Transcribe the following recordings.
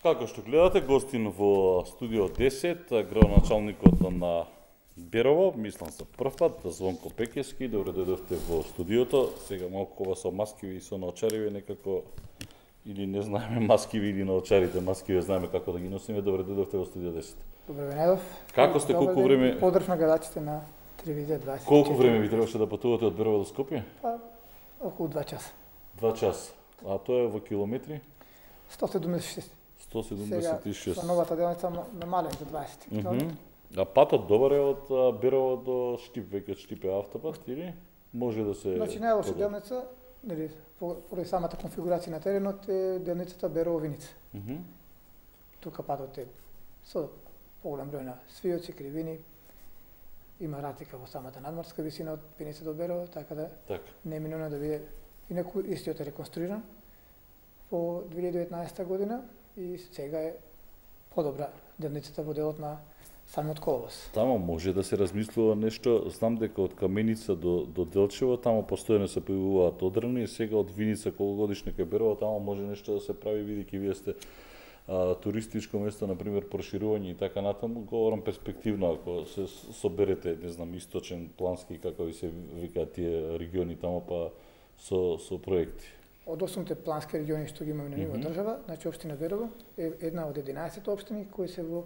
Како што гледате, гостин во студио 10, градоначалникот на Берово, мислам за прв пат, Звонко Пекески, добре дојдовте во студиото. Сега малку ова со маскиви и со наочариви некако, или не знаеме маскиви или наочарите, маскиви знаеме како да ги носиме. Добре дојдовте во студио 10. Добре ве најдов. Како сте, колку време? Поздрав на гледачите на телевизија 24. Колку време ви требаше да патувате од Берово до Скопје? Па, околу 2 часа. 2 часа. А тоа е во километри? 176. 176. Сега, со новата делница намален за 20 км. А патот добар е од Берово до Штип, веќе од Штип е автопат или може да се... Значи најлоша делница, нели, поради самата конфигурација на теренот е делницата Берово-Виница. Тука патот е со поголем број на свиоци, кривини, има разлика во самата надморска висина од Виница до Берово, така да не е минуно да биде. Инаку истиот е реконструиран во 2019 година и сега е подобра делницата во делот на самиот коловоз. Тамо може да се размислува нешто, знам дека од Каменица до Делчево, тамо постојано се појавуваат одрани, сега од Виница кологодишна кај Берово, тамо може нешто да се прави, бидејќи вие сте туристичко место, например, проширување и така натаму, говорам перспективно, ако се соберете, не знам, источен, плански, како ви се викаат тие региони тамо, па со проекти. Од 8 плански региони што ги имаме на ниво држава, значи општина Берово е една од 11 општини кои се во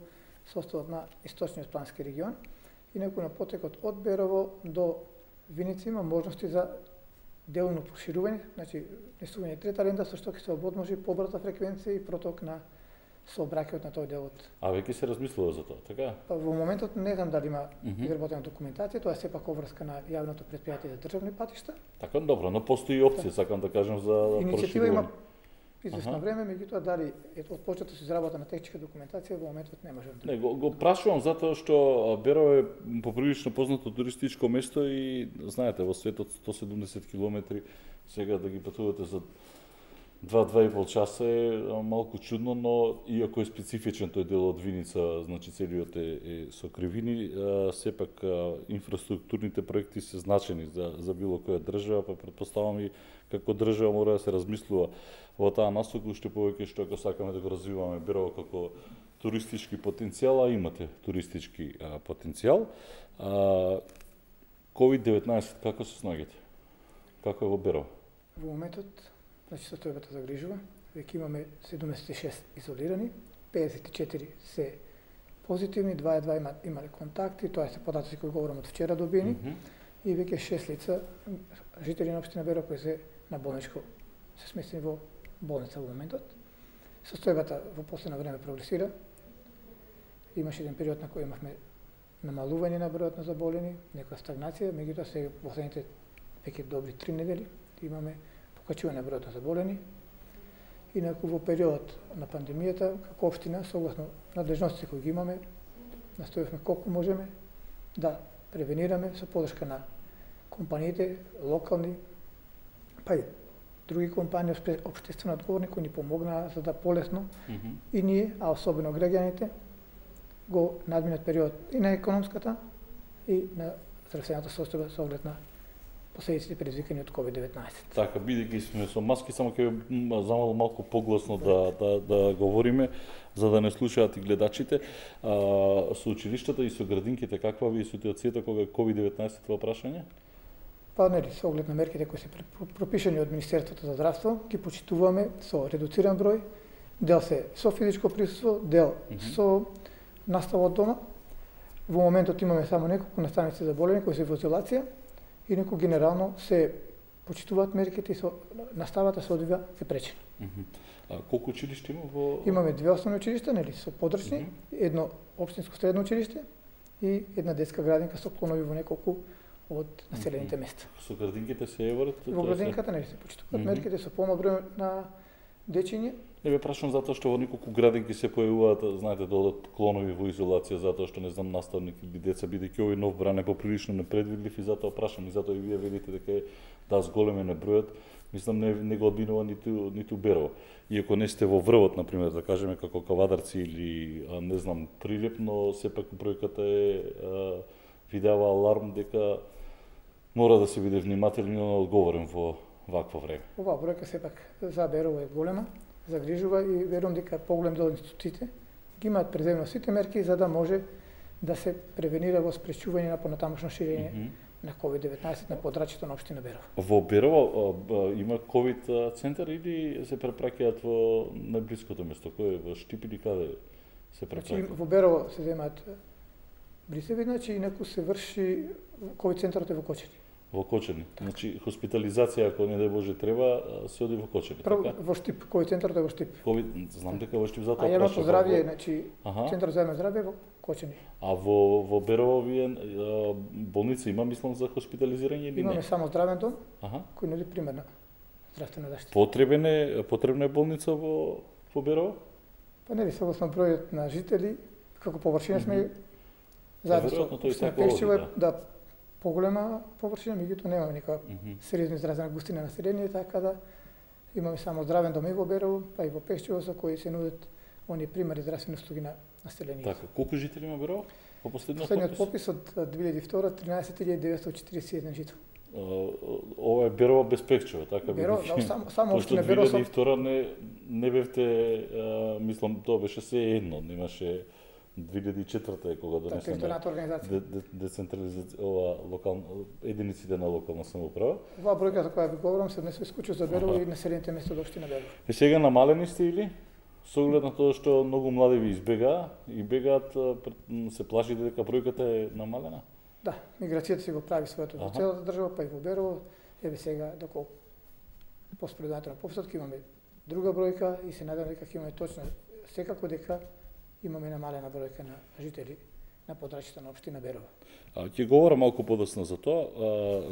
составот на источниот плански регион. Инаку на потекот од Берово до Виница има можности за делно проширување, значи несување трета ленда со што ќе се ободможи побрза фреквенција и проток на сообраќајот на тој дел од. А веќе се размислува за тоа, така? Па во моментот не знам дали има изработена документација, тоа е сепак обврска на јавното претпријатие за државни патишта. Така, добро, но постои опција, сакам да кажам за иницијатива има известно време, меѓутоа дали е отпочната со изработа на техничка документација во моментот не можам да. Не, го прашувам затоа што Берово е поприлично познато туристичко место и знаете во светот 170 километри сега да ги патувате за 2-2,5 часа е малку чудно, но иако е специфичен тој дел од Виница, значи целиот е со кривини, сепак инфраструктурните проекти се значени за било која држава, па претпоставам и како држава мора да се размислува во таа насока, уште повеќе што ако сакаме да го развиваме Берово како туристички потенцијал, а имате туристички потенцијал. COVID-19 како се снаѓате? Како е во Берово? Во моментот, значи состојбата загрижува, веќе имаме 76 изолирани, 54 се позитивни, 22 имале контакти, тоа се податоци кои говорам од вчера добиени, и веќе 6 лица, жители на општина Берово кои се на болничко, се сместени во болница во моментот. Состојбата во последно време прогресира. Имаше еден период на кој имавме намалување на бројот на заболени, некоја стагнација, меѓутоа се последните веќе добри 3 недели имаме покачување на бројот на заболени. Инаку во период на пандемијата, како општина, согласно надлежностите кои ги имаме, настојавме колку можеме да превенираме со подршка на компаниите, локални, па и други компании општествено одговорни кои ни помогнаа за да полесно и ние, а особено граѓаните, го надминат период и на економската и на здравствената состојба со оглед на последиците предизвикани од COVID-19. Така, бидејќи сме со маски, само ќе замал малку погласно да говориме, за да не слушаат и гледачите. Со училиштата и со градинките, каква ви е ситуацијата кога е COVID-19 во прашање? Па нели, со оглед на мерките кои се пропишани од Министерството за здравство, ги почитуваме со редуциран број, дел се со физичко присуство, дел со настава од дома. Во моментот имаме само неколку наставници заболени кои се во изолација, инаку генерално се почитуваат мерките и наставата се одвива пречено. А колку училишта има во... Имаме 2 основни училишта, нели, со подрачни, едно општинско средно училиште и една детска градинка со клонови во неколку од населените места. Со градинките се еварат? Во градинката нели се почитуваат мерките со помал број на дечиња. Не бе прашувам затоа што во неколку градинки се појавуваат, знаете, да одат клонови во изолација затоа што не знам наставник или деца, бидејќи овој нов бран е поприлично непредвидлив и затоа прашам и затоа и вие велите дека е зголемен е бројот, мислам не го одбинува ниту Берово. Иако не сте во врвот, например, да кажеме како Кавадарци или не знам Прилеп, но сепак бројката ви дава аларм дека мора да се биде внимателен и одговорен во вакво време. Оваа бројка сепак за Берово е голема. загрижува и верувам дека поголем дел од институциите ги имаат преземно сите мерки за да може да се превенира во спречување на понатамошно ширење на COVID-19 на подрачјето на општина Берово. Во Берово има ковид центар или се препраќаат во најблиското место? Кој е во Штип или каде се препраќаат? Во Берово се земаат брисеви, значи инаку се врши ковид центарот е во Кочани. Во Кочани. Значи хоспитализација ако не дај Боже треба се оди во Кочани, така? Во Штип, ковид центарот е во Штип. Знам дека во Штип затоа. А јавното здравје, значи центарот за јавно здравје е во Кочани. А во Берово вие болница има мислам за хоспитализирање или не? Имаме само здравен дом кој нуди примерна здравствена заштита. Потребна е болница во Берово? Па нели согласно бројот на жители, како површина сме заедно веројатно со Пешчево да поголема површина, меѓутоа немаме никаква сериозно изразена густина на население, така да имаме само здравен дом и во Берово, па и во Пешчево со кои се нудат оние примари здравствени услуги на населението. Така, колку жители има Берово? По последниот попис од 2002 13.941 жители. Ова е Берово без Пешчево, така Берово, само општина Берово. Пошто 2002 не бевте, мислам, тоа беше се едно, немаше 2004 кога донесена децентрализација единиците на локална самоуправа. Оваа бројка за која ви говорам се однесува исклучиво за Берово и населените места од општина Берово. Е сега намалени сте или? Со оглед на тоа што многу млади ви бегаат, се плашите дека бројката е намалена? Да, миграцијата си го прави своето во целата држава, па и во Берово. Еве сега, доколку поспредувањето на пописот имаме друга бројка и се надевам дека ќе имаме точно секако дека имаме намалена бројка на жители на подрачјето на општина Берово. Ќе говорам малку подоцна за тоа,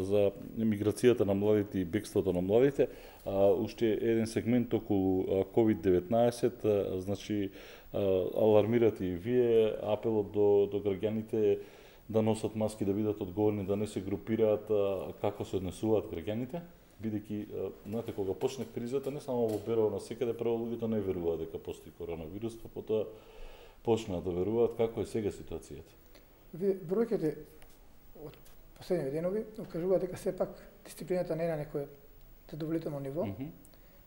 за миграцијата на младите и бегството на младите. Уште еден сегмент околу COVID-19, значи алармирате и вие, апелот до граѓаните да носат маски, да бидат одговорни, да не се групираат, како се однесуваат граѓаните, бидејќи знаете кога почне кризата не само во Берово, насекаде прво луѓето не веруваат дека постои коронавирус, па потоа почнаа да веруваат. Како е сега ситуацијата? Бројките од последните денови окажуваат дека сепак дисциплината не е на некое задоволително ниво.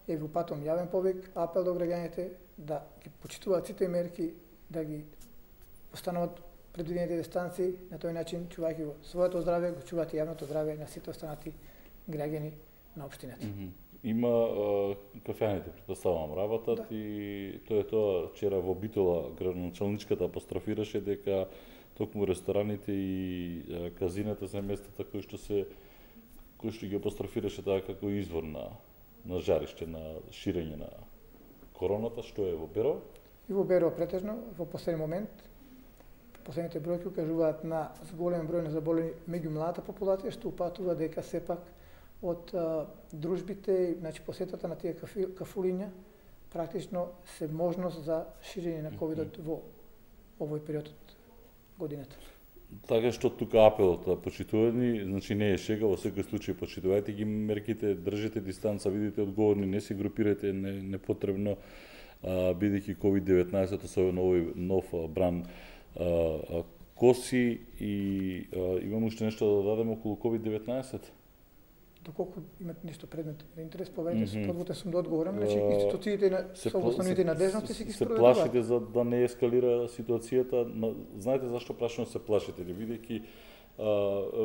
Е во патом јавен повик, апел до граѓаните да ги почитуваат сите мерки, да ги остануваат предвидените дистанции, на тој начин чувајќи го своето здравје, го чуваат и јавното здравје на сите останати граѓани на општината. Има кафеаните, претпоставувам, работат и тоа е тоа. Вчера во Битола градоначалничката апострофираше дека токму рестораните и казината се местата кои што ги апострофираше таа како извор на жариште, на ширење на короната, што е во Берово. И во Берово претежно во последен момент последните бројки укажуваат на голем број на заболени меѓу младата популација, што упатува дека сепак од дружбите, значи посетата на тие кафулиња, практично се можност за ширење на ковидот во овој период од годината. Така што тука апелот почитувани, значи не е шега, во секој случај почитувајте ги мерките, држите дистанца, бидете одговорни, не се групирате непотребно, бидејќи COVID-19, особено овој нов бран коси и имам уште нешто да дадем околу COVID-19? Доколку имат нешто предмет на интерес, повеќе подготвен сум да одговорам, значи институциите со основните надежности си ги спроведуваат. Се плашите за да не ескалира ситуацијата, знаете зашто прашувам се плашите, бидејќи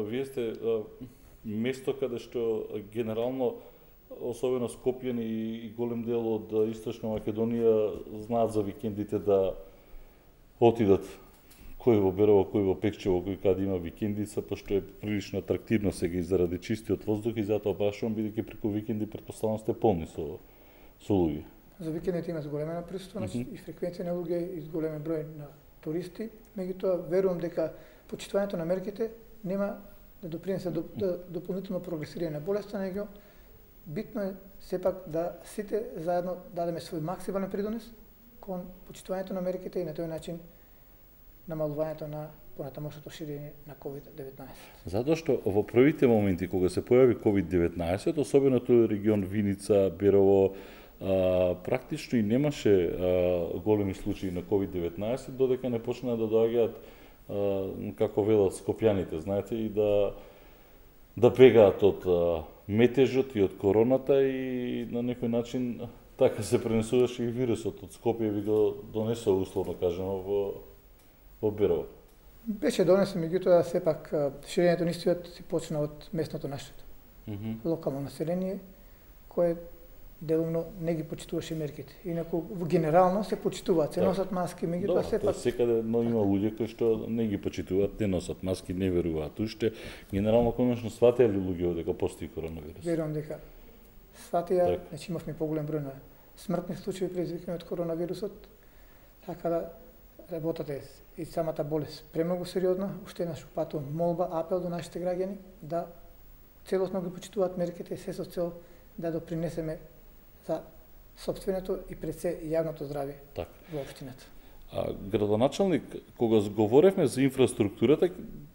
вие сте место каде што генерално особено Скопјани и голем дел од Источна Македонија знаат за викендите да отидат кој во Берово, кој во Пекчево, кој каде има викендица, пошто е прилично атрактивно сега и заради чистиот воздух и затоа прашувам, бидејќи преку викенди претпоставувам сте полни со луѓе. За викендите има зголемена присуство, и фреквенција на луѓе и зголемен број на туристи, меѓутоа верувам дека почитувањето на мерките нема да допринесе до дополнително прогресирање на болеста, него битно е сепак да сите заедно дадеме свој максимален придонес кон почитувањето на мерките и на тој начин намалувањето на понатамошното ширење на COVID-19. Затоа што во првите моменти кога се појави COVID-19, особено тој регион Виница, Берово, практично и немаше големи случаи на COVID-19, додека не почнаа да доаѓаат, како велат скопјаните, знаете, и да бегаат од метежот и од короната и на некој начин така се пренесуваше и вирусот од Скопје ви го донесува условно кажано во Берово. Беше донесен, меѓутоа сепак ширењето на истиот се почна од местното население. Локално население кое делумно не ги почитуваше мерките. Инаку генерално се почитуваат, се носат маски, меѓутоа сепак секаде, но има луѓе кои што не ги почитуваат, не носат маски, не веруваат. Уште генерално конечно сватеа ли луѓе дека постои коронавирус? Верувам дека сватеа, значи имавме поголем број на смртни случаи предизвикани од коронавирусот, така да работата е и самата болест премногу сериозна. Уште еднаш упатувам молба, апел до нашите граѓани да целосно ги почитуваат мерките, се со цел да допринесеме за сопственото и пред се јавното здравје во општината. Градоначалник, кога говоревме за инфраструктурата,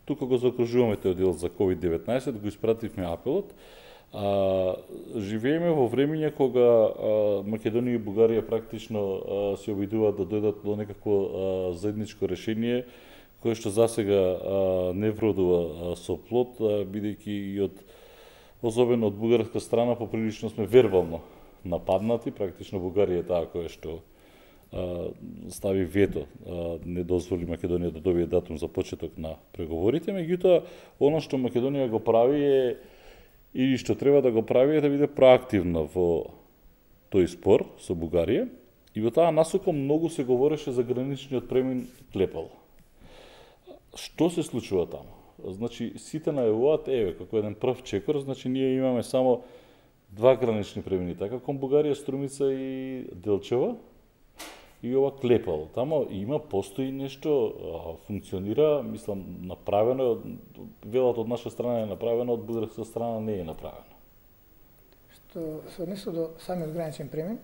тука го закружуваме тој дел за COVID-19, го испративме апелот. Живееме во времење кога Македонија и Бугарија практично се обидуваат да дојдат до некакво заедничко решение, кое што засега не вродува со плод, бидејќи и особено од бугарска страна поприлично сме вербално нападнати, практично Бугарија е таа која што стави вето, не дозволи Македонија да добие датум за почеток на преговорите, меѓутоа она што Македонија го прави е и што треба да го прави е да биде проактивна во тој спор со Бугарија и во таа насока многу се говореше за граничниот премин Клепало. Што се случува таму? Значи, сите најавуваат, како еден прв чекор, значи ние имаме само 2 гранични премини, така кон Бугарија, Струмица и Делчева, и ова Клепало. Тамо постои нешто, функционира, мислам, направено, велат од наша страна е направено, од бугарска страна не е направено. Што се однесува до самиот граничен премин,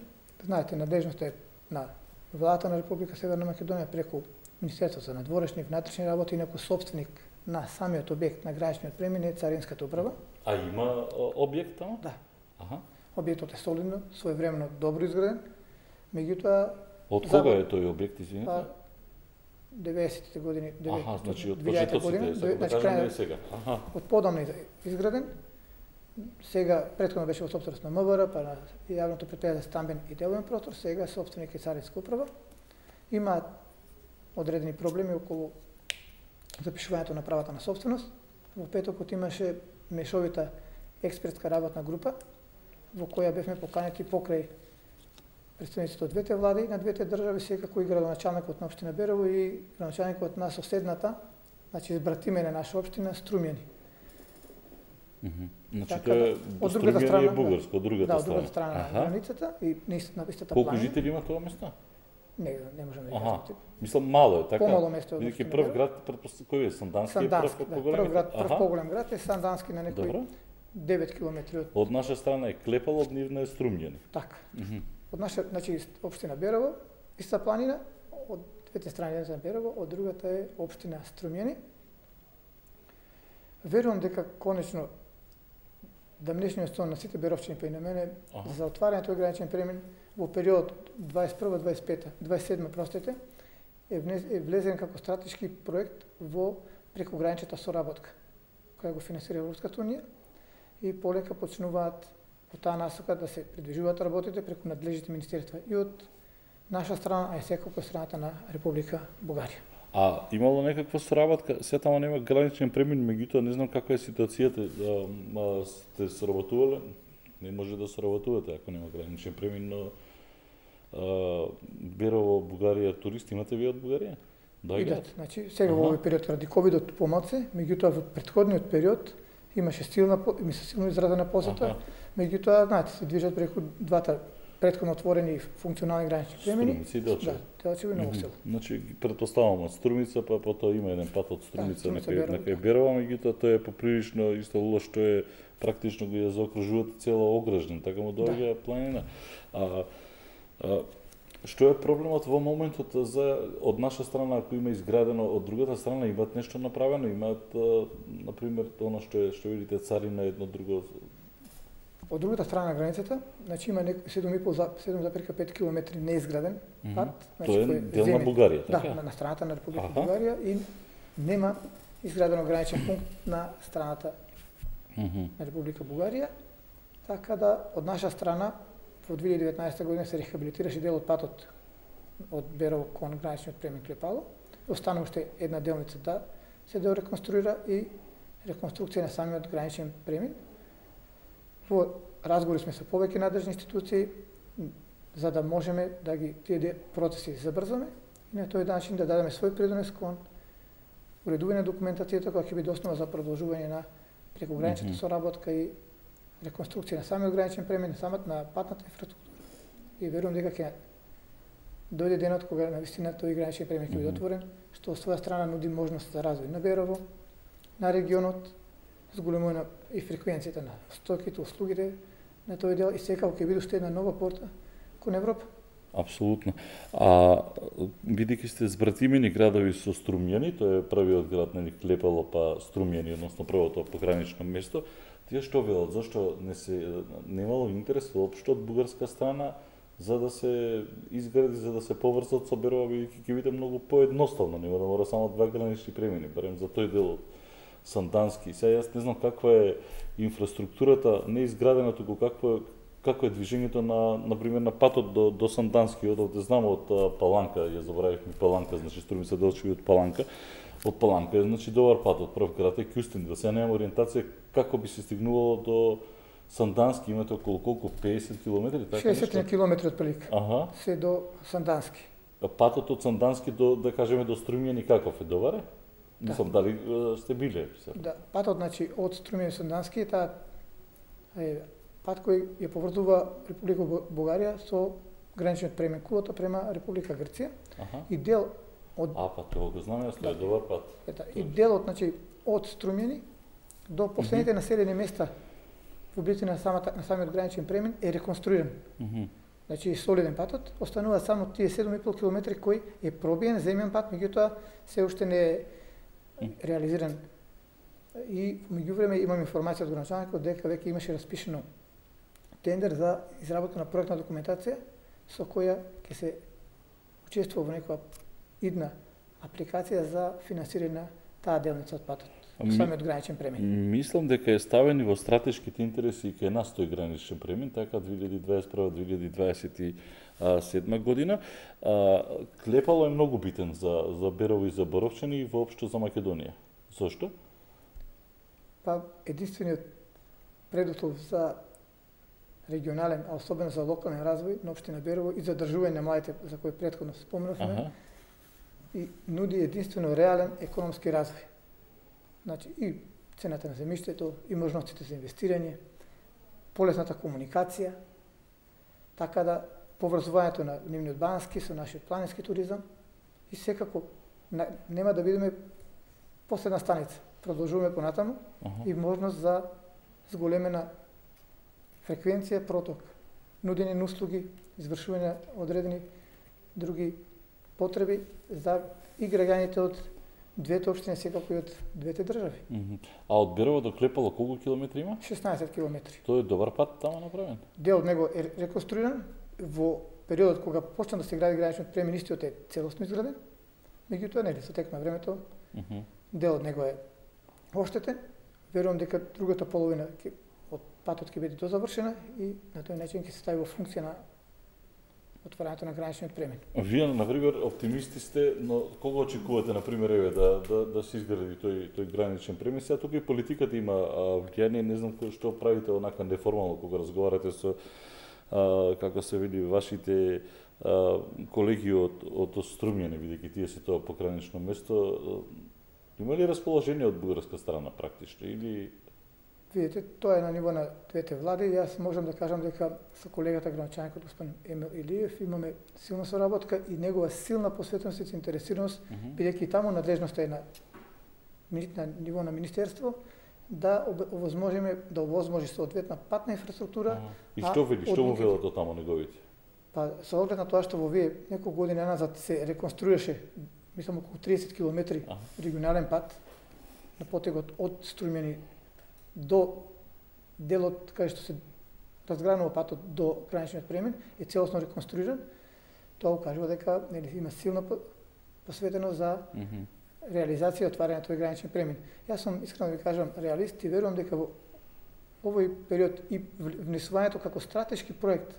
знаете, надежноста е на владата на Република Северна Македонија преку Министерството за надворешни и внатрешни работи, инаку собственик на самиот објект на граничниот премин е Царинската управа. А има објект тамо? Да. Објектот е солидно, своевремено добро изграден, меѓутоа од кога е тој објект, извинете? 90-тите години, значи од почетоците, да кажам не сега. Од подамна изграден. Сега претходно беше во сопственост на МВР, па на јавното предпријатие за стамбен и деловен простор, сега сопственик е Царинска управа. Има одредени проблеми околу запишувањето на правата на собственост. Во петокот имаше мешовита експертска работна група, во која бевме поканети покрај представниците од двете влади на двете држави, секако и градоначалникот на општина Берово и градоначалникот на соседната, значи избратиме на наша општина Струмјани. Значи тоа од другата страна е бугарско, од другата страна. Да, од другата страна на границата и на истата планина. Колку жители има тоа место? Не можам да ви кажам. Мислам мало е, така? Помало место од Бидејќи прв град, кој е Сандански? Прв поголем град е Сандански на некои 9 километри од наша страна е Клепало, од нивна е Струмјани. Така. Од наша, значи општина Берово, иста планина, од двете страни на Берово, од другата е општина Струмјани. Верувам дека конечно дамнешниот стон на сите беровчани па и на мене за отварањето на граничен премин во период 21-27 е влезен како стратешки проект во прекограничната соработка, која го финансира Европската унија и полека почнуваат во таа насока да се придвижуваат работите преку надлежните министерства и од наша страна, а и секако од страната на Република Бугарија. А имало некаква соработка, се тамо нема граничен премин, меѓутоа не знам каква е ситуацијата, сте соработувале? Не може да соработувате ако нема граничен премин, но Берово, Бугарија, туристи имате вие од Бугарија? Идат, значи сега во овој период ради ковидот помалце, меѓутоа во претходниот период имаше силно изразена посета, меѓутоа знаете се движат преку двата претходно отворени функционални гранични премини. Струмица и Делчево. Да, Делчево и Ново село. Значи претпоставам од Струмица, па потоа има еден пат од Струмица на кај Берово, меѓутоа тоа е поприлично исто лошо што е практично го ја заокружуваат цела Ограждан, така му доаѓа планина. Што е проблемот во моментот од наша страна, ако има изградено, од другата страна имаат нешто направено, имаат на пример она што видите царина едно друго. Од другата страна на границата, значи има 7,5 км неизграден пат, значи тоа е дел на Бугарија, така? Да, на страната на Република Бугарија и нема изградено граничен пункт на страната на Република Бугарија, така да од наша страна во 2019 година се рехабилитираше дел од патот од Берово кон граничниот премин Клепало. Останува уште една делница да се дореконструира и реконструкција на самиот граничен премин. Во разговори сме со повеќе надржни институции за да можеме да ги тие процеси забрзаме и на тој начин да дадеме свој придонес кон уредување на документацијата која ќе биде основа за продолжување на прекограничната соработка и реконструкција на самиот граничен премин, на патната инфраструктура. И верувам дека ќе дојде денот кога навистина тој граничен премин ќе биде отворен, што од своја страна нуди можност за развој на Берово, на регионот, зголемување и фреквенцијата на стоките, услугите на тој дел и секако ќе биде уште една нова порта кон Европа. Апсолутно. Бидејќи сте збратимени градови со Струмјани, тоа е првиот град на Клепало па Струмјани, односно првото погранично место, тие што велат, зашто немало интерес воопшто од бугарска страна за да се изгради, за да се поврзат со Берово, бидејќи ќе биде многу поедноставно, нема да мора само 2 гранични премини, барем за тој дел од Сандански. Сега јас не знам каква е инфраструктурата, не изградена, туку како е движењето на пример на патот до Сандански, од знам од Паланка, ја заборавивме Паланка, значи Струми се Делчеви од Паланка. Од Паланка е значи добар пат, од прв град е Кјустендил. Сега нема ориентација како би се стигнувало до Сандански, имате околу колку 50 километри, така 60 километри отприлика. Аха. Се до Сандански. Патот од Сандански до да кажеме до Струмјани каков е, добар е? Мислам дали сте биле? Да, патот значи од Струмјани до Сандански таа е пат кој ја поврзува Република Бугарија со граничниот премин Кулата према Република Грција. И дел од па тоа го знам, јас, тоа е добар пат. И делот значи од Струмјани до последните населени места во близина на самиот граничен премин е реконструиран. Значи солиден патот, останува само тие 7,5 километри кој е пробиен земјен пат, меѓутоа се уште не е реализиран. И меѓувреме имам информација од граначаникот дека веќе имаше распишено тендер за изработка на проектна документација со која ќе се учествува во некоја идна апликација за финансирање на таа делница од патот, самиот граничен премин. Мислам дека е ставен и во стратешките интереси и кај нас тој граничен премин, така 2021-2027 година. Клепало е многу битен за Берово и за Боровчани и воопшто за Македонија. Зошто? Па единствениот предуслов за регионален, а особено за локален развој на општина Берово и задржување на младите за кои претходно спомнавме, и нуди единствено реален економски развој. Значи и цената на земјиштето, и можностите за инвестирање, полесната комуникација, така да поврзувањето на нивниот бански со нашиот планински туризам и секако нема да бидеме последна станица. Продолжуваме понатаму и можност за зголемена фреквенција, проток, нудење на услуги, извршување на одредени други потреби за и граѓаните од двете општини, секако и од двете држави. А од Берово до Клепало колку километри има? 16 километри. Тоа е добар пат таму направен? Дел од него е реконструиран во периодот кога почна да се гради граничниот премин, истиот е целосно изграден. Меѓутоа нели со тек на времето дел од него е оштетен. Верувам дека другата половина од патот ќе биде дозавршена и на тој начин ќе се стави во функција на отварањето на граничниот премин. Вие, например, оптимисти сте, но кога очекувате, например, да се изгради тој граничен премин? Сега тука и политиката има влијание, не знам што правите онака неформално кога разговарате со како се види вашите колеги од Струмјани, бидејќи тие се тоа погранично место. Има ли расположение од бугарска страна практично или Видите, тоа е на ниво на двете влади. Јас можам да кажам дека со колегата граначаникот господин Емил Илиев имаме силна соработка и негова силна посветеност и заинтересираност, бидејќи таму надлежноста е на ниво на министерство, да овозможи соодветна патна инфраструктура. И што му велат од таму неговите? Па со оглед на тоа што во вие неколку години назад се реконструираше, мислам околу 30 километри регионален пат на потегот од Струмјани до делот кај што се разгранува патот до граничниот премин е целосно реконструиран. Тоа укажува дека има силна посветеност за реализација и отварање на тој граничен премин. Јас сум искрено да ви кажам реалист и верувам дека во овој период и внесувањето како стратешки проект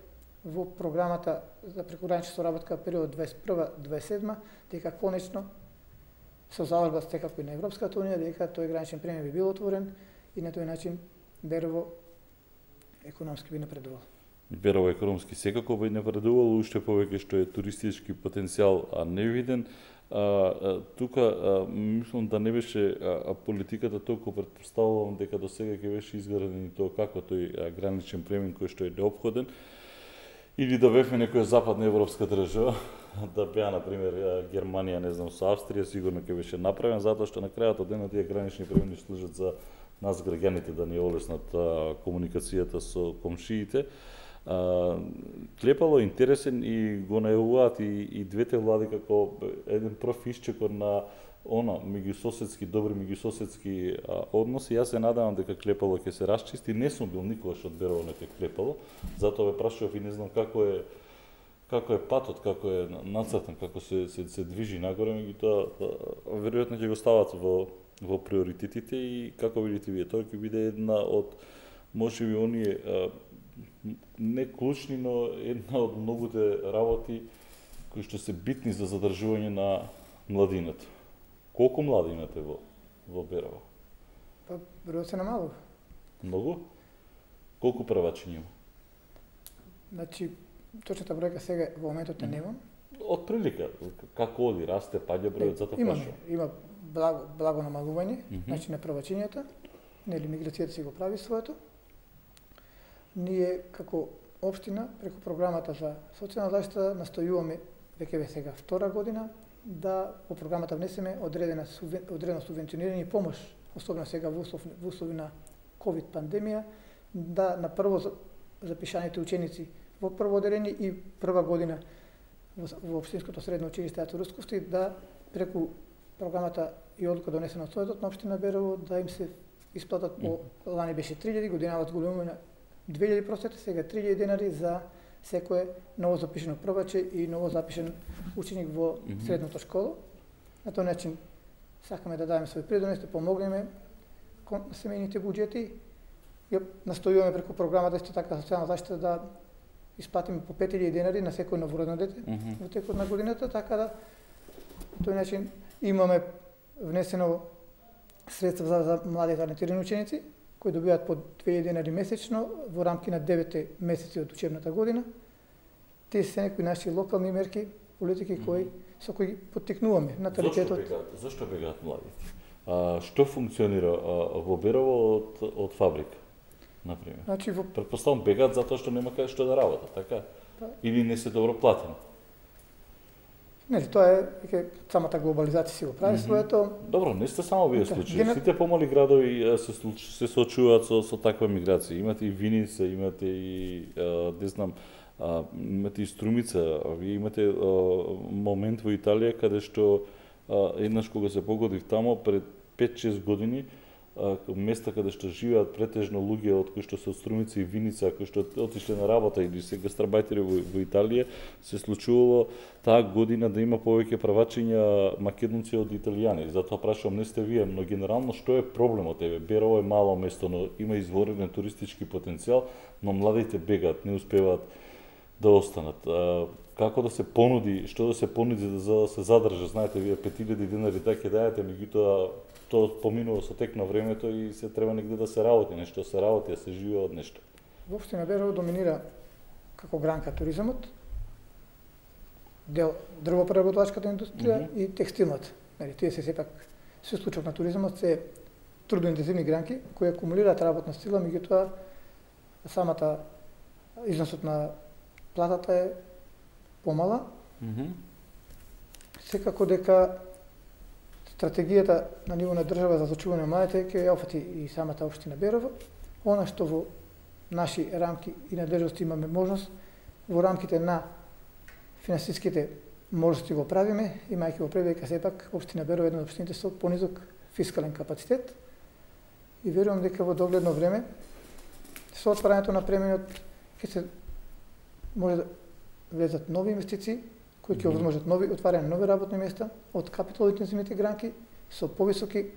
во програмата за прекогранична соработка период 21-27, дека конечно со залажба секако и на Европската унија, дека тој граничен премиј би бил отворен и на тој начин Берово економски би напредувал. Берово економски секако би напредувал, уште повеќе што е туристички потенцијал невиден. Тука мислам да не беше политиката толку, претпоставувам дека до сега ќе беше изграден и тоа како тој граничен премин кој што е неопходен, или да бевме некоја западна европска држава, да беа на пример Германија, не знам, со Австрија, сигурно ќе беше направен, затоа што на крајот од денот тие гранични премини служат за нас граѓаните да ни олеснат комуникацијата со комшиите. Клепало интересен и го најавуваат и двете влади како еден прв исчекор на меѓусоседски, добри меѓусоседски односи. Јас се надевам дека Клепало ќе се расчисти. Не сум бил никогаш од Берово некој Клепало, затоа ве прашував и не знам како е патот, како е нацртан, како се движи нагоре, меѓутоа веројатно ќе го стават во приоритетите и како видите вие, тоа ќе биде една од можеби оние не клучни, но една од многуте работи кои што се битни за задржување на младината. Колку млади имате во Берово? Па, бројот се намалува. Многу? Колку првачи има? Значи, точната бројка сега во моментот не немам. Од прилика, како оди, расте, паѓа бројот, затоа прашувам. Има благо намалување, значи на првачињата, нели миграцијата си го прави своето. Ние како општина преку програмата за социјална заштита настојуваме веќе сега втора година да во програмата внесеме одредено субвенционирање и помош, особено сега во услови на ковид пандемија, да на прво запишаните ученици во прво оделение и прва година во општинското средно училиште Ато Русковски да преку програмата и одлука донесена од Советот на општина Берово да им се исплатат по лани беше 3000, годинава зголемуваме на 2000 просети, сега 3000 денари за секое ново запишено прваче и ново запишен ученик во средната школа. На тој начин сакаме да дадеме свој придонес, да помогнеме кон семејните буџети. Ја настојуваме преку програмата исто така социјална заштита да исплатиме по 5000 денари на секој новородено дете во текот на годината, така да на тој начин имаме внесено средства за млади талентирани ученици кои добиваат по 2000 денари месечно во рамки на 9 месеци од учебната година. Тие се некои наши локални мерки, политики со кои поттикнуваме наталитетот. Зошто бегаат младите? Што функционира во Берово од фабрика, например? Значи претпоставам бегаат затоа што нема кај што да работат, така? Или не се добро платени? Не, тоа е дека самата глобализација си го прави своето. Добро, не сте само вие случаи. Сите помали градови се соочуваат со таква миграција. Имате и Виница, имате и не знам, имате и Струмица, вие имате момент во Италија каде што еднаш кога се погодив тамо пред 5-6 години, места каде што живеат претежно луѓе од кои што се од Струмица и Виница, кои што отишле на работа или се гастарбајтери во Италија, се случувало таа година да има повеќе правачиња македонци од италијани. Затоа прашувам, не сте вие, но генерално што е проблемот? Берово е мало место, но има изворен туристички потенцијал, но младите бегаат, не успеваат да останат. Како да се понуди, што да се понуди за да се задржат? Знаете, вие 5000 денари така дајате, меѓутоа тоа поминува со тек на времето и се треба негде да се работи, нешто се работи, да се живее од нешто. Во општина Берово доминира како гранка туризмот, дел дрвопреработвачката индустрија и текстилната. Тие се сепак се случок на туризмот се трудоинтензивни гранки кои акумулираат работна сила, меѓутоа самата износот на платата е помала. Секако дека стратегијата на ниво на држава за зачување на младите ќе ја офати и самата општина Берово. Она што во наши рамки и надлежности имаме можност, во рамките на финансиските можности го правиме, имајќи во предвид дека сепак општина Берово е една од општините со понизок фискален капацитет и верувам дека во догледно време со отварањето на премиот ќе се може да влезат нови инвестиции кои ќе овозможат отварање на нови работни места од капиталоинтензивните гранки со повисоки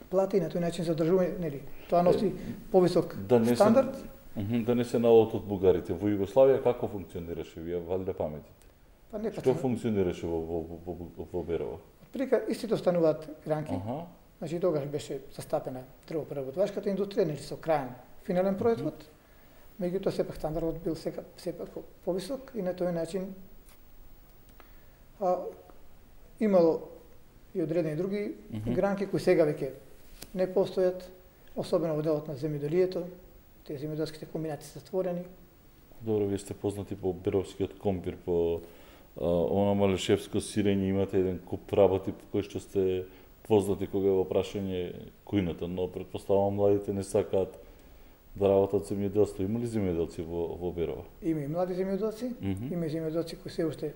плати и на тој начин задржување, нели, тоа носи повисок стандард Да не се наодат од бугарите. Во Југославија како функционираше? Вие валјда паметите? Па не Што функционираше во Берово? Прика истите остануваат гранки. Значи тогаш беше застапена дрвопреработвачката индустрија, нели со крајен финален производ. Меѓутоа сепак стандардот бил сепак повисок и на тој начин имало и одредени други гранки кои сега веќе не постојат, особено во делот на земјоделието, тие земјоделските комбинати се затворени. Добро, вие сте познати по беровскиот компир, по она малешевско сирење, имате еден куп работи по кои што сте познати кога е во прашање кујната, но претпоставувам младите не сакаат да работат земјоделство. Има ли земјоделци во Берово? Има и млади земјоделци, има и земјоделци кои се уште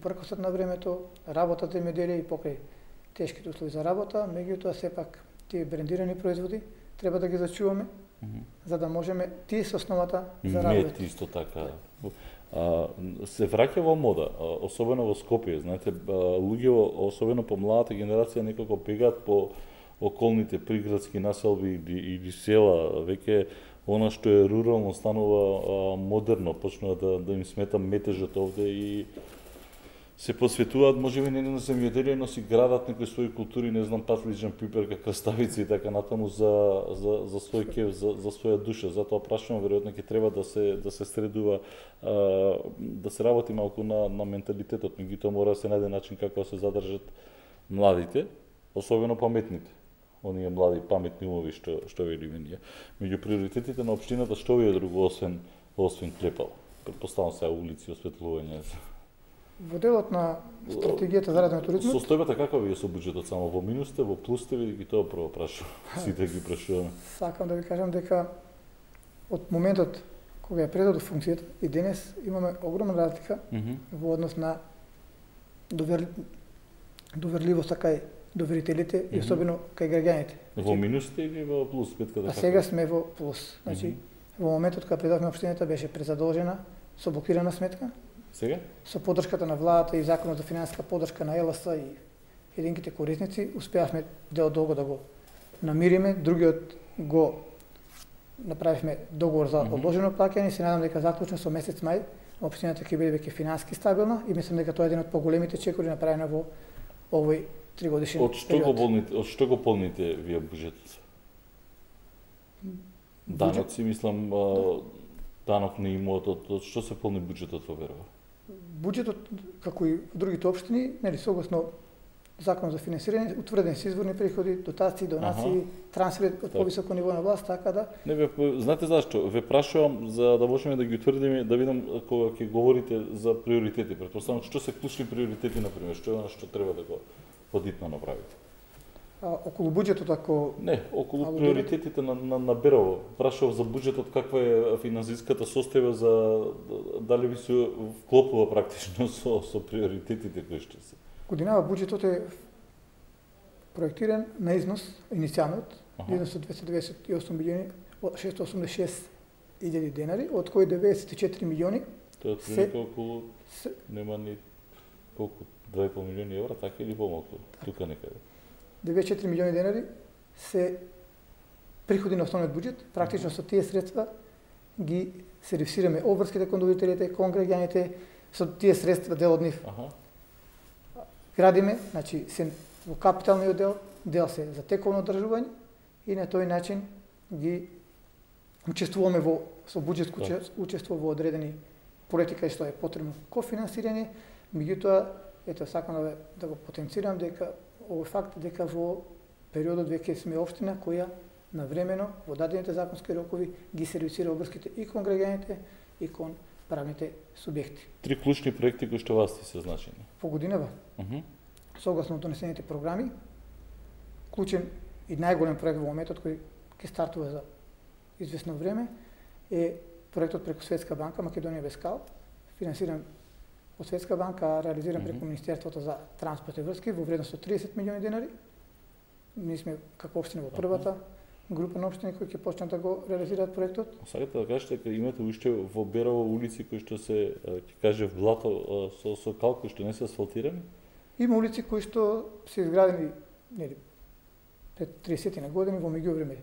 пркосат на времето, работат земјоделие и покрај тешките услови за работа, меѓутоа сепак тие брендирани производи треба да ги зачуваме, за да можеме тие се основата за работа. Мед исто така. Се враќа во мода, особено во Скопје, знаете, луѓе, особено по младата генерација, некако бегаат по околните приградски населби или села, веќе она што е рурално станува модерно, почнува да им смета метежот овде и се посветуваат можеби не на земјоделие, но си градат некои своји култури, не знам, патлиџан, пиперка, краставици и така натаму за свој кев, за своја душа. Затоа прашувам, веројатно ќе треба да се средува, да се работи малку на менталитетот, меѓутоа мора да се најде начин како да се задржат младите, особено паметните. Оние млади паметни умови што велиме ние. Меѓу приоритетите на општината што ви е друго освен клепал? Претпоставам сега улици, осветлување. Во делот на стратегијата за развој на туризмот. Состојбата каква ви е со буџетот, само во минус сте, во плюс сте, ви тоа прво прашувам. Сите ги прашуваме. Сакам да ви кажам дека од моментот кога ја предадов функцијата и денес имаме огромна разлика во однос на доверливост кај доверителите и особено кај граѓаните. Во минус сте или во плюс? А сега сме во плюс. Значи, во моментот кога предавме општината беше презадолжена со блокирана сметка. Сега? Со поддршката на владата и законот за финансиска поддршка на ЕЛС и единките корисници, успеавме дел долго да го намириме, другиот го направивме договор за одложено плаќање и се надам дека заклучно со месец мај општината ќе биде веќе финансиски стабилна и мислам дека тоа е еден од поголемите чекори направени во овој 3-годишен период. Од што го полните вие буџетот? Даноци, мислам, данок на имотот, од што се полни буџетот во Берово? Буџетот, како и другите општини, нели согласно Закон за финансирање, утврдени се изворни приходи, дотации, донации, трансфери од повисоко ниво на власт, така да. Не бе, знаете зашто? Ве прашувам за да можеме да ги утврдиме, да видам кога ќе говорите за приоритети. Претпоставам што се клучни приоритети на пример, што е она што треба да го подитно направите? Околу буџетот, ако... Не, околу приоритетите на Берово. Прашував за буџетот, каква е финансиската состојба, за дали ви се вклопува практично со приоритетите кои што се. Годинава буџетот е проектиран на износ, иницијалниот, износ од 298 милиони 686 илјади денари, од кои 94 милиони тоа е околу нема ни колку 2,5 милиони евра, така или помалку, тука некаде. 94 милиони денари се приходи на основниот буџет, практично со тие средства ги сервисираме обврските кон доверителите, кон граѓаните, со тие средства дел од нив. Градиме, значи се во капиталниот дел се за тековно одржување и на тој начин ги учествуваме со буџетско учество во одредени проекти кај што е потребно кофинансирање, меѓутоа ето сакам да го потенцирам дека овој факт дека во периодот веќе сме општина која навремено во дадените законски рокови ги сервисира обврските и кон граѓаните и кон правните субјекти. 3 клучни проекти кои што вас се значени. По годинава. Согласно донесените програми, клучен и најголем проект во моментот кој ќе стартува за известно време е проектот преку Светска банка Македонија без кал, финансиран од Светска банка, реализиран преку Министерството за транспорт и врски во вредност од 30 милиони денари. Ние сме како општина во првата група на општини кои ќе почнат да го реализираат проектот. Сакате да кажете дека имате уште во Берово улици кои што се, ќе кажев, блато со кал кои што не се асфалтирани? Има улици кои што се изградени нели пред 30 на години во меѓувреме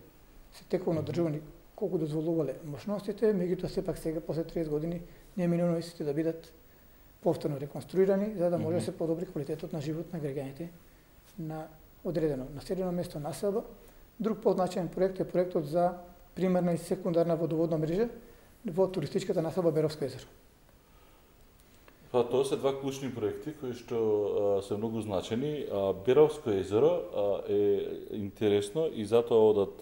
се тековно одржувани колку дозволувале мощностите, меѓутоа сепак сега после 30 години не е минуно истите да бидат повторно реконструирани за да може да се подобри квалитетот на живот на граѓаните на одредено населено место, населба. Друг позначаен проект е проектот за примарна и секундарна водоводна мрежа во туристичката населба Беровско езеро. Па тоа се два клучни проекти кои што се многу значени. Беровско езеро е интересно и затоа одат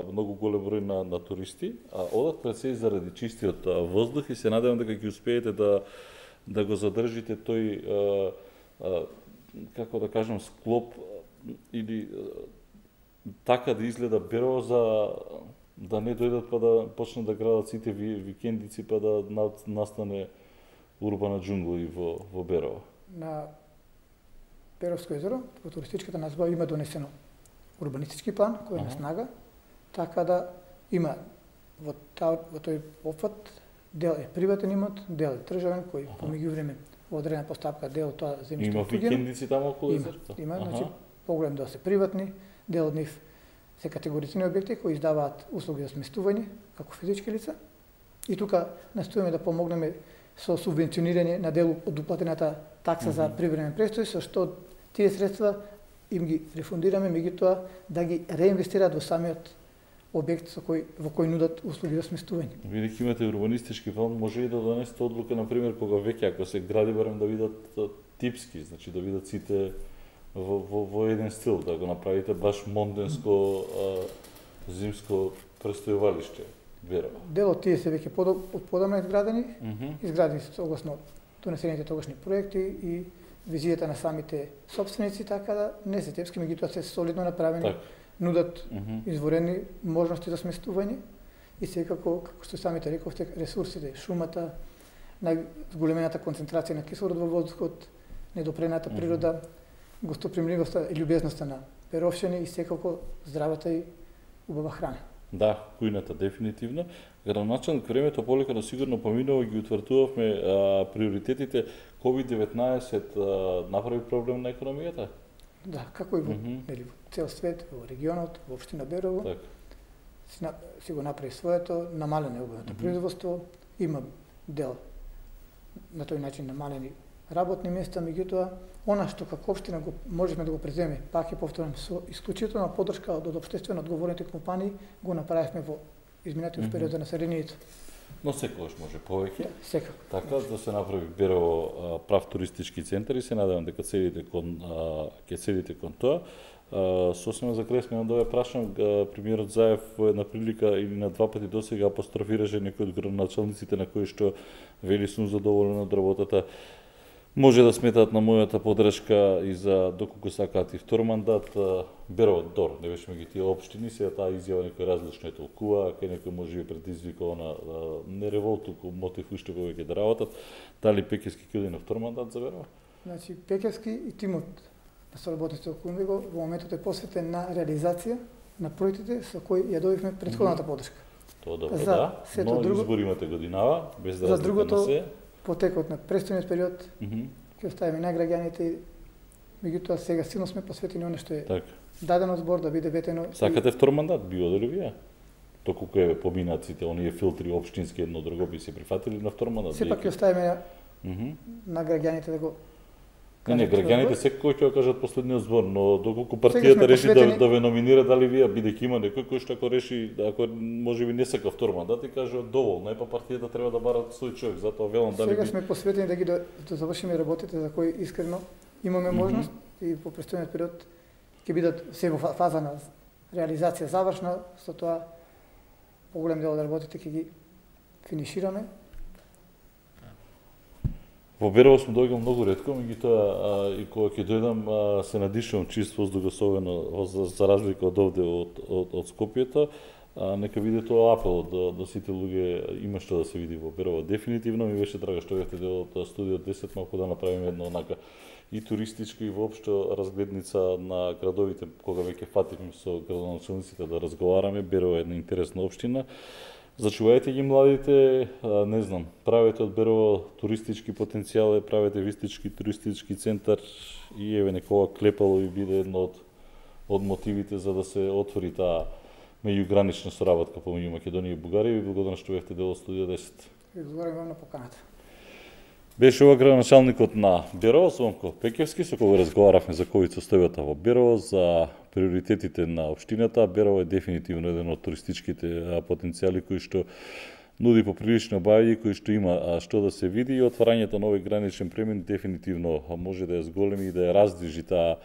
многу голем број на туристи. Одат пред се заради чистиот воздух и се надевам дека ќе успеете да го задржите тој како да кажам склоп или така да изгледа Берово за да не дојдат па да почнат да градат сите викендици па да настане урбана џунгла и во Берово. На Беровско езеро, во туристичката населба има донесено урбанистички план кој е на снага, така да има во тој опфат дел е приватен имот, дел е државен кој по меѓувреме во одредена постапка дел тоа земјиште има викендици таму околу езерото. Има, значи поголем дел се приватни, дел од нив се категорични објекти кои издаваат услуги за сместување како физички лица. И тука настојаме да помогнеме со субвенционирање на дел од уплатената такса за привремен престој, со што тие средства им ги рефундираме, меѓутоа да ги реинвестираат во самиот објект во кој нудат услуги за сместување. Бидејќи имате урбанистички план, може и да донесете одлука, например, кога веќе ако се гради барем да видат типски, значи да видат сите во еден стил, да го направите баш монденско зимско престојувалиште. Берово. Дел од тие се веќе подамна изградени, изградени се согласно донесените тогашни проекти и визијата на самите собственици, така да не се тепски, меѓутоа се солидно направени, нудат изворени можности за сместување и секако, како што самите рековте, ресурсите, шумата, најголемената концентрација на кислород во воздухот, недопрената природа, гостопримливоста и љубезноста на беровшани и секако здравата и убава храна. Да, кујната дефинитивно. Градоначалник времето полека но сигурно поминува ги утврдувавме приоритетите. COVID-19 направи проблем на економијата? Да, како и во цел свет, во регионот, во општина Берово. Си го направи своето, намалено е обемното производство, има дел на тој начин намалени работни места, меѓутоа она што како општина го можеме да го преземе, пак е повторам, со исклучителна поддршка од општествено одговорните компании, го направивме во изминатиот период за населението. Но секогаш може повеќе. Да, секако. Така да се направи Берово прав туристички центар и се надевам дека ќе седите кон тоа. Сосема за крај сме да ве прашам, премиерот Заев во една прилика или на два пати досега апострофираше некои од градоначалниците на кои што вели сум задоволен од работата. Може да сметаат на мојата поддршка и за доколку сакаат и втор мандат. Берово дор, не беше меѓу тие општини, сега таа изјава некој различно е толкува, кај некој може би предизвика не револт, туку мотив уште повеќе да работат. Дали Пекевски ќе оди на втор мандат за Берово? Значи Пекевски и тимот на соработниците околу него во моментот е посветен на реализација на проектите со кои ја добивме претходната поддршка. Тоа добро, да, но друго, избор имате годинава, без да разлика на се. Потекот на престојниот период ќе оставиме на граѓаните, меѓутоа сега силно сме посветени оно што е дадено збор да биде ветено. Сакате втор мандат, би одели вие? Доколку е поминат сите оние филтри општински едно друго, би се прифатили на втор мандат? Сепак ќе оставиме на граѓаните да го Не, граѓаните секој ќе кажат последниот збор, но доколку партијата реши да ве номинира, дали вие, бидејќи има некој кој што ако реши, ако можеби не сака втор мандат и каже доволно е, па партијата треба да бара свој човек, затоа велам дали сега сме посветени да ги да завршиме работите за кои искрено имаме можност и по престојниот период ќе бидат се во фаза на реализација завршна, со тоа поголем дел од работите ќе ги финишираме. Во Берово сме доаѓал многу ретко, меѓутоа и кога ќе дојдам се надишувам чист воздух, особено за разлика од овде од Скопјето. Нека биде тоа апел до сите луѓе, има што да се види во Берово. Дефинитивно ми беше драго што бевте дел од студио 10, малку да направиме едно онака и туристичка и воопшто разгледница на градовите, кога веќе фативме со градоначалниците да разговараме. Берово е една интересна општина. Зачувајте ги младите, не знам, правете од Берово туристички потенцијал, правете вистички туристички центар и еве некога клепало и биде едно од мотивите за да се отвори таа меѓугранична соработка помеѓу Македонија и Бугарија. Ви благодарам што бевте дел од Студио 10. Ви благодарам на поканата. Беше ова градоначалникот на Берово, Звонко Пекевски, со кого разговаравме за ковид-состојбата во Берово, за приоритетите на општината. Берово е дефинитивно еден од туристичките потенцијали кои што нуди поприлично бајање, кои што има што да се види, и отварањето на овој граничен премин дефинитивно може да ја зголеми и да ја раздвижи таа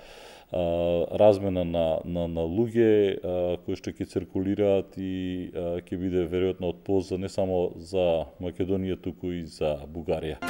размена на луѓе кои што ќе циркулираат и ќе биде веројатно од полза не само за Македонија, туку и за Бугарија.